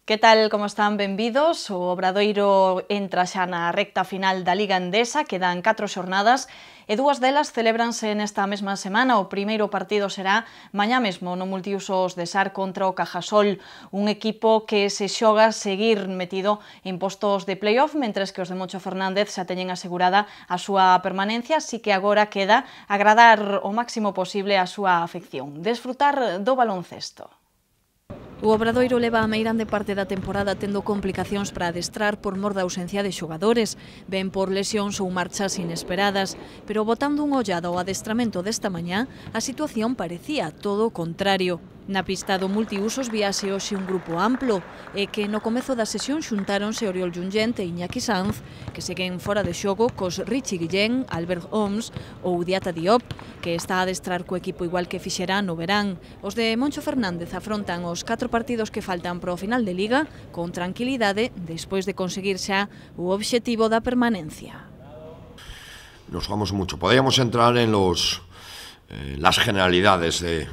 Que tal, como están? Benvidos. O Obradoiro entra xa na recta final da Liga Endesa, quedan 4 xornadas e 2 delas celébranse nesta mesma semana. O primeiro partido será mañá mesmo no multiusos de Sar contra o Cajasol, un equipo que se xoga seguir metido en postos de playoff, mentres que os de Moncho Fernández xa teñen asegurada a súa permanencia, así que agora queda agradar o máximo posible a súa afección, desfrutar do baloncesto. O Obradoiro leva a meirande parte da temporada tendo complicacións para adestrar por mor da ausencia de xogadores, ben por lesións ou marchas inesperadas, pero botando un ollado ao adestramento desta mañá, a situación parecía todo o contrario. Na pista do multiusos víase hoxe un grupo amplo e que no comezo da sesión xuntáronse Oriol Junyent e Iñaki Sanz, que seguen fora de xogo cos Richie Guillén, Albert Oms ou Diata Diop, que está a adestrar co equipo igual que fixerá no verán. Os de Moncho Fernández afrontan os 4 partidos que faltan para o final de Liga con tranquilidade despois de conseguir xa o obxectivo da permanencia. Nos jugamos mucho. Podríamos entrar en las generalidades de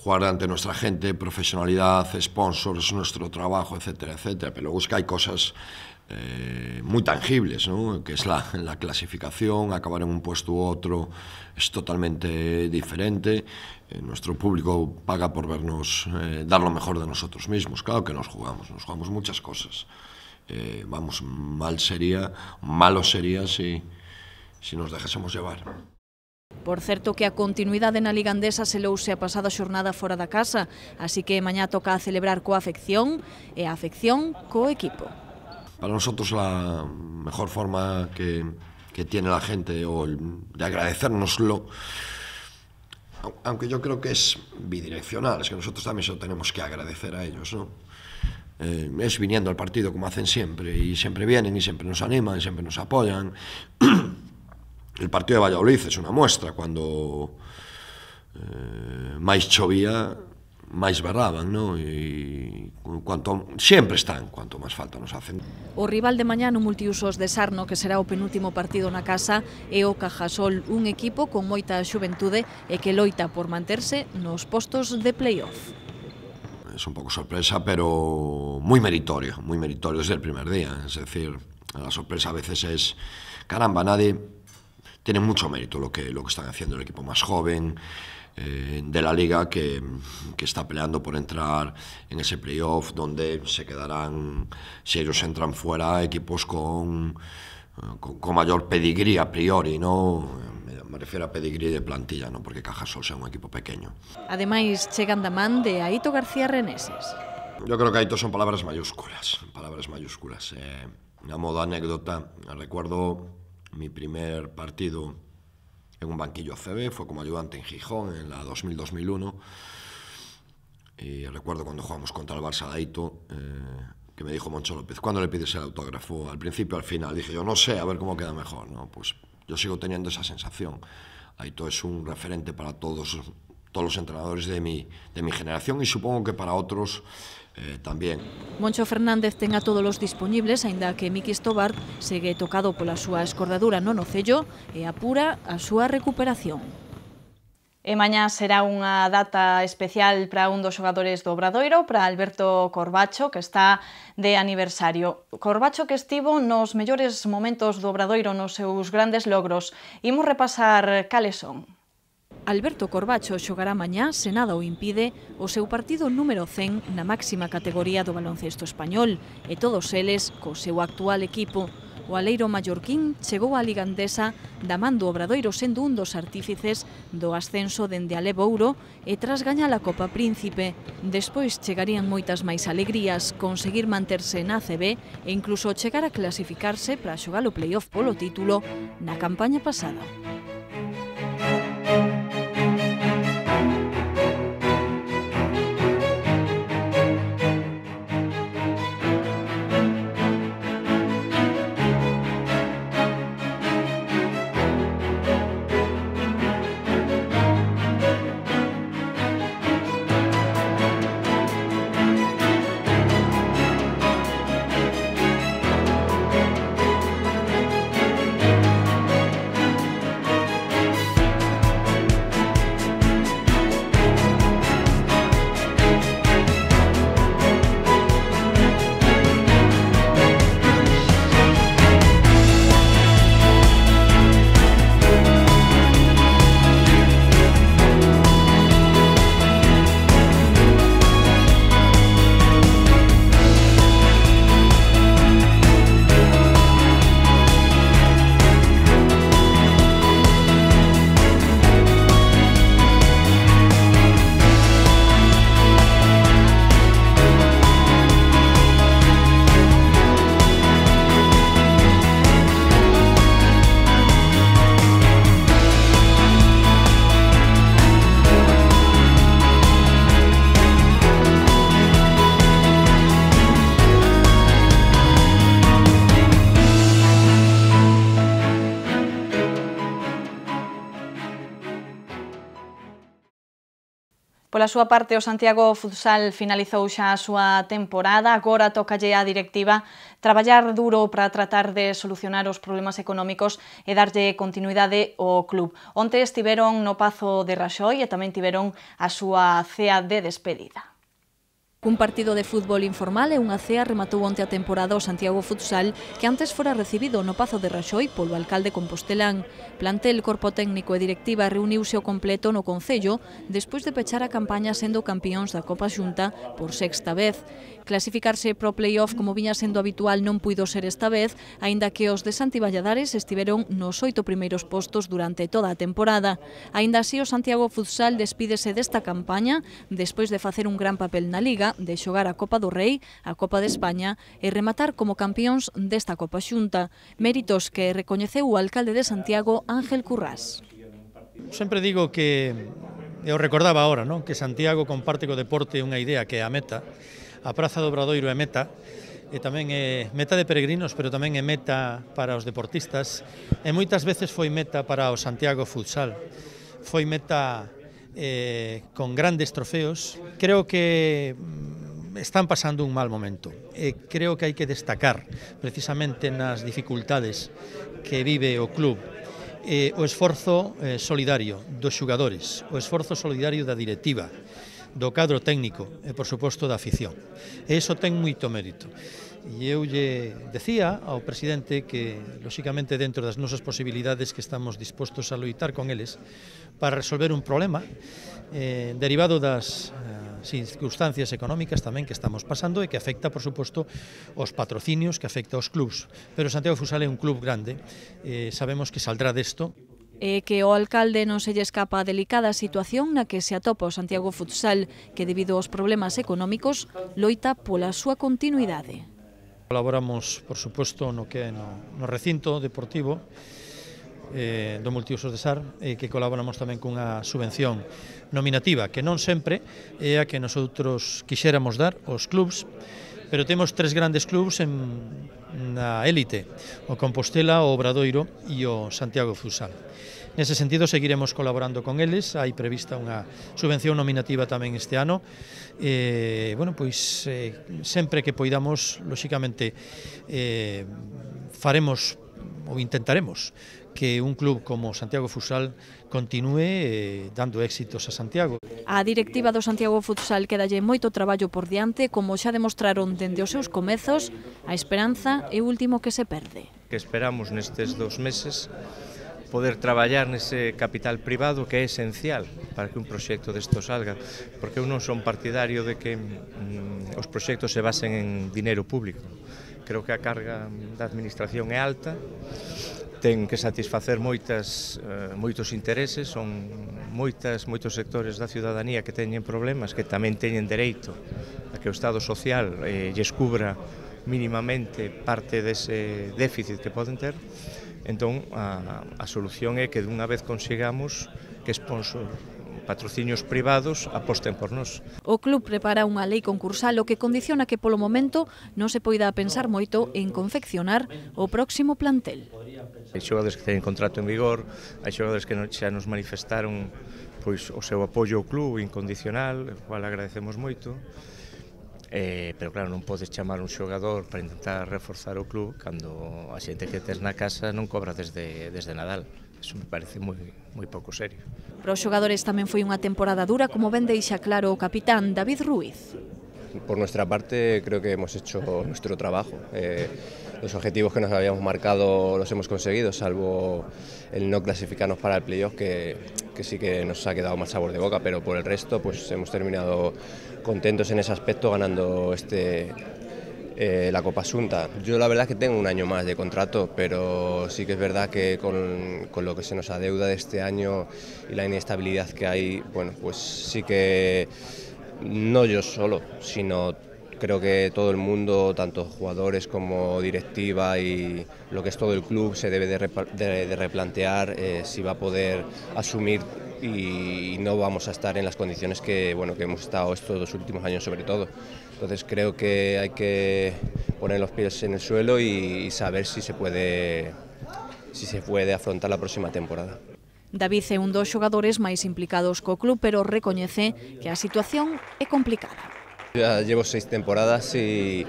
jugar ante nuestra gente, profesionalidad, sponsors, nuestro trabajo, etcétera, etcétera. Pero luego es que hay cosas muy tangibles, ¿no? Que es la clasificación, acabar en un puesto u otro es totalmente diferente. Nuestro público paga por vernos dar lo mejor de nosotros mismos. Claro que nos jugamos muchas cosas. Vamos, malo sería si nos dejásemos llevar. Por certo que a continuidade na Liga Endesa selouse a pasada xornada fora da casa, así que mañá toca a celebrar coa afección e a afección co equipo. Para nosotros la mejor forma que tiene la gente de agradecérnoslo, aunque yo creo que es bidireccional, es que nosotros también se lo tenemos que agradecer a ellos, ¿no? Es viniendo al partido como hacen siempre, y siempre vienen y siempre nos animan, y siempre nos apoyan. El partido de Valladolid es una muestra, cuando máis chovía, máis berraban, ¿no? E sempre están, cuanto máis falta nos hacen. O rival de mañá no multiusos de Sarno, que será o penúltimo partido na casa, é o Cajasol, un equipo con moita xuventude e que loita por manterse nos postos de playoff. Es un pouco sorpresa, pero muy meritorio desde el primer día. Es decir, la sorpresa a veces es, caramba, tiene mucho mérito lo que están haciendo el equipo más joven de la liga que está peleando por entrar en ese playoff donde se quedarán, si ellos entran fuera, equipos con mayor pedigrí a priori, ¿no? Me refiero a pedigrí de plantilla, no porque Cajasol sea un equipo pequeño. Ademais, chegan da man de Aito García Reneses. Yo creo que Aito son palabras mayúsculas. A modo anécdota, recuerdo mi primer partido en un banquillo ACB, fue como ayudante en Gijón en la 2000-2001, y recuerdo cuando jugamos contra el Barça de Aito, que me dijo Moncho López, ¿cuándo le pides el autógrafo? Al principio, al final. Dije yo, no sé, a ver cómo queda mejor, ¿no? Pues yo sigo teniendo esa sensación. Aito es un referente para todos los entrenadores de mi generación, y supongo que para otros tamén. Moncho Fernández ten a todos os disponibles, aínda que Miki Stobar segue tocado pola súa escordadura no nocello e apura a súa recuperación. E mañá será unha data especial para un dos xogadores do Obradoiro, para Alberto Corbacho, que está de aniversario. Corbacho que estivo nos mellores momentos do Obradoiro, nos seus grandes logros. Imos repasar cales son. Alberto Corbacho xogará mañá, se nada o impide, o seu partido número 100 na máxima categoría do baloncesto español, e todos eles co seu actual equipo. O aleiro mallorquín chegou á Liga Endesa da man do Obradoiro sendo un dos artífices do ascenso dende a Lebouro e tras gañar a Copa Príncipe. Despois chegarían moitas máis alegrías, conseguir manterse na ACB e incluso chegar a clasificarse para xogar o playoff polo título na campaña pasada. Pola súa parte, o Santiago Futsal finalizou xa a súa temporada, agora tócalle á directiva traballar duro para tratar de solucionar os problemas económicos e darlle continuidade ao club. Onte estiveron no Pazo de Raxoi e tamén tiveron a súa cea de despedida. Un partido de fútbol informal e unha cea rematou onte a temporada o Santiago Futsal, que antes fora recibido no Pazo de Raxoi polo alcalde compostelán. Plantel, corpo técnico e directiva reuniuse ao completo no Concello despois de pechar a campaña sendo campións da Copa Xunta por sexta vez. Clasificarse pro play-off como viña sendo habitual non puido ser esta vez, aínda que os de Santi Valladares estiveron nos 8 primeiros postos durante toda a temporada. Aínda así, o Santiago Futsal despídese desta campaña despois de facer un gran papel na Liga, de xogar a Copa do Rei, a Copa de España e rematar como campións desta Copa Xunta. Méritos que recoñeceu o alcalde de Santiago, Ángel Currás. Sempre digo que, eu recordaba agora, non? Que Santiago comparte co deporte unha idea que é a meta. A Praza do Obradoiro é meta, e tamén é meta de peregrinos, pero tamén é meta para os deportistas, e moitas veces foi meta para o Santiago Futsal. Foi meta con grandes trofeos. Creo que están pasando un mal momento e creo que hai que destacar precisamente nas dificultades que vive o club o esforzo solidario dos xogadores, o esforzo solidario da directiva, do cadro técnico e, por suposto, da afición. E iso ten moito mérito. E eu lle decía ao presidente que, lóxicamente, dentro das nosas posibilidades que estamos dispostos a loitar con eles para resolver un problema derivado das circunstancias económicas tamén que estamos pasando e que afecta, por suposto, os patrocinios, que afecta aos clubs. Pero Santiago Futsal é un club grande, sabemos que saldrá desto. E que o alcalde non se lle escapa a delicada situación na que se atopa o Santiago Futsal, que debido aos problemas económicos loita pola súa continuidade. Colaboramos, por suposto, no que é no recinto deportivo do Multiusos de Sar, que colaboramos tamén cunha subvención nominativa, que non sempre é a que nosotros quixéramos dar aos clubs, pero temos tres grandes clubs na élite, o Compostela, o Obradoiro e o Santiago Futsal. Nese sentido, seguiremos colaborando con eles, hai prevista unha subvención nominativa tamén este ano, bueno, pois sempre que poidamos, lóxicamente, faremos ou intentaremos que un club como Santiago Futsal continúe dando éxitos a Santiago. A directiva do Santiago Futsal quedalle moito traballo por diante, como xa demostraron dende os seus comezos, a esperanza é o último que se perde. Que esperamos nestes 2 meses poder traballar nese capital privado que é esencial para que un proxecto desto salga, porque eu non son partidario de que os proxectos se basen en dinero público. Creo que a carga da administración é alta, ten que satisfacer moitos intereses, son moitos sectores da ciudadanía que teñen problemas, que tamén teñen dereito a que o Estado social lles cubra mínimamente parte dese déficit que poden ter. Entón, a solución é que dunha vez consigamos que patrocinios privados aposten por nós. O club prepara unha lei concursal o que condiciona que polo momento non se poida pensar moito en confeccionar o próximo plantel. Hai xogadores que teñen contrato en vigor, hai xogadores que xa nos manifestaron pois o seu apoio ao club incondicional, o cual agradecemos moito. Pero claro, non podes chamar un xogador para intentar reforzar o club cando a xente que tes na casa non cobra desde Nadal. Eso me parece moi pouco serio. Para os xogadores tamén foi unha temporada dura, como ben deixa claro o capitán David Ruiz. Por nuestra parte creo que hemos hecho nuestro trabajo. Los objetivos que nos habíamos marcado los hemos conseguido, salvo el no clasificarnos para el playoff, que sí que nos ha quedado más sabor de boca, pero por el resto pues hemos terminado contentos en ese aspecto, ganando la Copa Xunta. Yo la verdad es que tengo un año más de contrato, pero sí que es verdad que con lo que se nos adeuda de este año y la inestabilidad que hay, bueno, pues sí que no yo solo, sino creo que todo el mundo, tanto jugadores como directiva y lo que es todo el club, se debe de replantear si va a poder asumir y no vamos a estar en las condiciones que hemos estado estos 2 últimos años sobre todo. Entonces creo que hay que poner los pies en el suelo y saber si se puede afrontar la próxima temporada. David é un dos xogadores máis implicados co club, pero recoñece que a situación é complicada. Ya llevo 6 temporadas y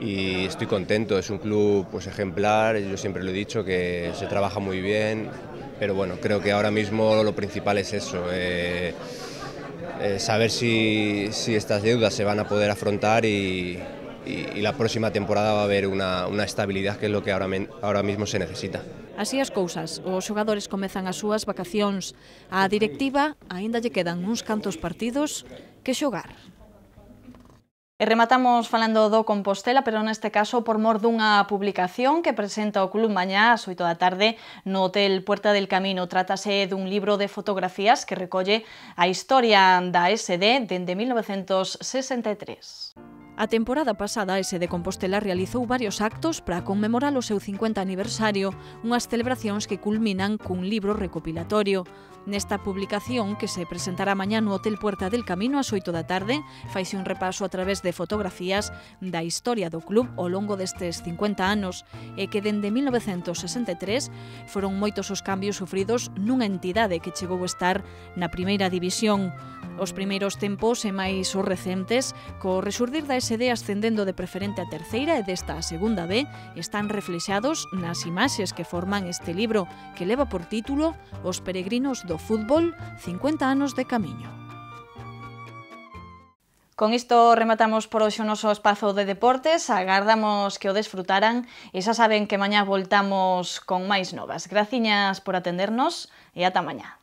estoy contento, es un club pues ejemplar, yo siempre lo he dicho que se trabaja muy bien, pero bueno, creo que ahora mismo lo principal es eso, saber si estas deudas se van a poder afrontar y la próxima temporada va a haber una estabilidad que es lo que ahora mismo se necesita. Así as cousas, os xogadores comezan as súas vacacións. Á directiva aínda lle quedan uns cantos partidos que xogar. E rematamos falando do Compostela, pero neste caso por mor dunha publicación que presenta o club mañá ás 8 da tarde no Hotel Puerta del Camino. Trátase dun libro de fotografías que recolle a historia da SD dende 1963. A temporada pasada, a SD Compostela realizou varios actos para conmemorar o seu 50 aniversario, unhas celebracións que culminan cun libro recopilatorio. Nesta publicación, que se presentará mañá no Hotel Puerta del Camino ás 8 da tarde, faise un repaso a través de fotografías da historia do club ao longo destes 50 anos e que dende 1963 foron moitos os cambios sufridos nunha entidade que chegou a estar na primeira división. Os primeiros tempos e máis os recentes, co resurdir da SD ascendendo de preferente a terceira e desta a segunda B, están reflexados nas imaxes que forman este libro, que leva por título Os peregrinos do fútbol, 50 anos de camiño. Con isto rematamos por hoxe o noso espazo de deportes, agardamos que o desfrutaran e xa saben que mañá voltamos con máis novas. Graciñas por atendernos e ata mañá.